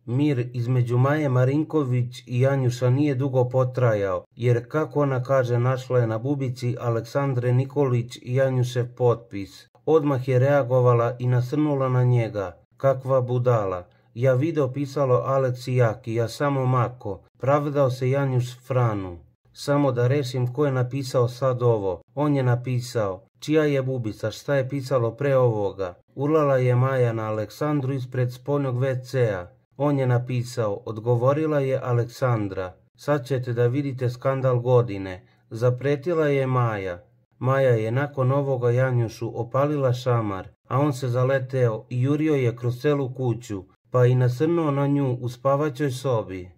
Mir između Maje Marinković i Janjuša nije dugo potrajao, jer kako ona kaže našla je na bubici Aleksandre Nikolić i Janjušev potpis. Odmah je reagovala i nasrnula na njega. Kakva budala. Ja video pisalo Aleks i Jaki, ja samo mako. Pravdao se Janjuš Franu. Samo da rešim ko je napisao sad ovo. On je napisao. Čija je bubica, šta je pisalo pre ovoga? Urlala je Maja na Aleksandru ispred spoljnog WC-a. On je napisao, odgovorila je Aleksandra. Sad ćete da vidite skandal godine. Zapretila je Maja. Maja je nakon ovoga Janjušu opalila šamar, a on se zaleteo i jurio je kroz celu kuću, pa i nasrnuo na nju u spavaćoj sobi.